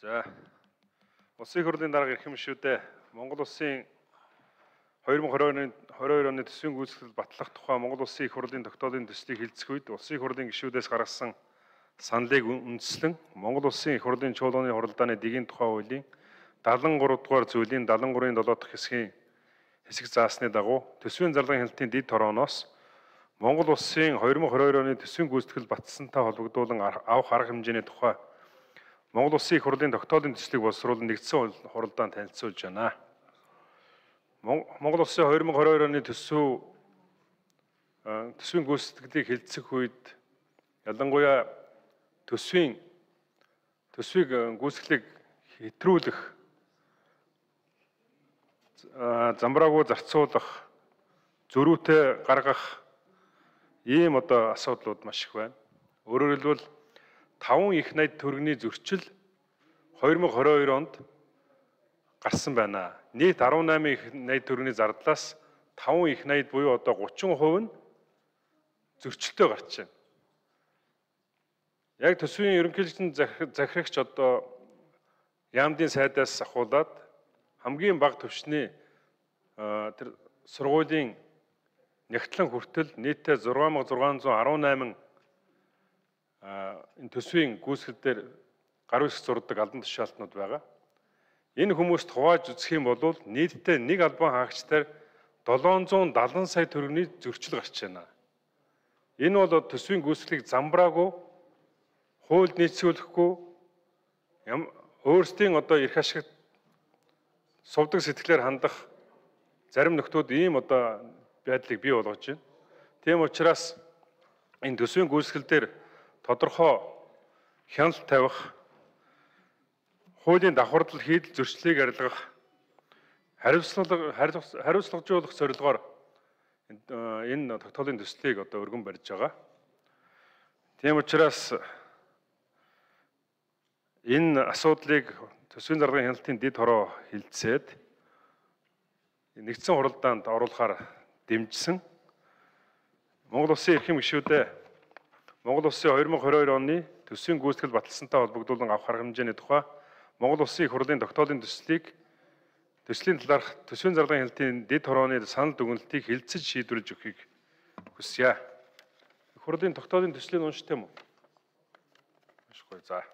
За. Улсын их хурлын дарга ирэх юм шүү дээ. Монгол улсын 2022 оны төсвийн гүйцэтгэл батлах тухай Монгол улсын их хурлын тогтоолын төслийг хэлцэх үед улсын их хурлын гишүүдээс гаргасан саналыг үндэслэн Монгол улсын их хурлын чуулганы хуралдааны дэгийн тухай хуулийн 73 дугаар зүйлийн 73-ийн 7 дахь хэсэг заасны дагуу төсвийн зарлагын хяналтын дэд хорооноос Монгол улсын 2022 оны төсвийн гүйцэтгэл баталсантай холбогдуулан авах арга хэмжээний тухай Монгол улсын их хурлын тогтоолын төслийг боловсруулан нэгдсэн хуралдаанд танилцуулж байна. Монгол улсын 2022 оны төсвийн гүйцэтгэлийг хэлцэх үед ялангуяа төсвийг гүйцэтгэлийг хэтрүүлэх, замбраагүй зарцуулах, зөрүүтэй гаргах ийм асуудлууд маш их байна. Өөрөөр хэлбэл 5 их найд төгрөгийн зөрчил 2022 онд гарсан байна. Нийт 18 их найд төгрөгийн зардлаас 5 их найд буюу 30% нь зөрчилтэй гарч байна. Яг төсвийн ерөнхийлөгчийн захирагч яамдын сайдаас ахуулаад хамгийн бага түвшний тэр сургуулийн нягтлан хүртэл нийтдээ 6618 энэ төсвийн гүйцэтгэл дээр гар үсэг зурдаг албан тушаалтнууд байгаа. Энэ хүмүүст хувааж үзэх юм бол нийтдээ нэг албан хаагчдаар 770 сая төгрөгийн зөрчил гарч байна. Энэ бол төсвийн гүйцэтгэлийг замбраагүй, хууль нийцүүлэхгүй, өөрсдийн эрх ашигт сувдаг сэтгэлээр хандах зарим нөхдүүд ийм байдлыг бий болгож байна. Тийм учраас энэ төсвийн гүйцэтгэл дээр тодорхой хяналт тавих, хуулийн давхардал хийдэл зөрчлийг арилгах, хариуцлагажуулах зорилгоор энэ тогтоолын төслийг өргөн барьж байгаа. Тийм учраас энэ асуудлыг төсвийн зарлагын хяналтын дэд хороо хилцээд нэгдсэн хуралдаанд оруулахаар дэмжсэн. Монгол улсын эрхэм гишүүдээ Монгол улсын 2022 оны төсвийн гүйцэтгэл баталсантай холбогдуулан авах арга хэмжээний тухай Монгол улсын их хурлын тогтоолын төслийн талаарх төсвийн зарлагын хяналтын дэд хорооны санал дүгнэлтийг хэлцэж шийдвэрлэж өгөхийг хүсье. Их хурлын тогтоолын төслийг уншдаг юм уу? Уншихгүй. За.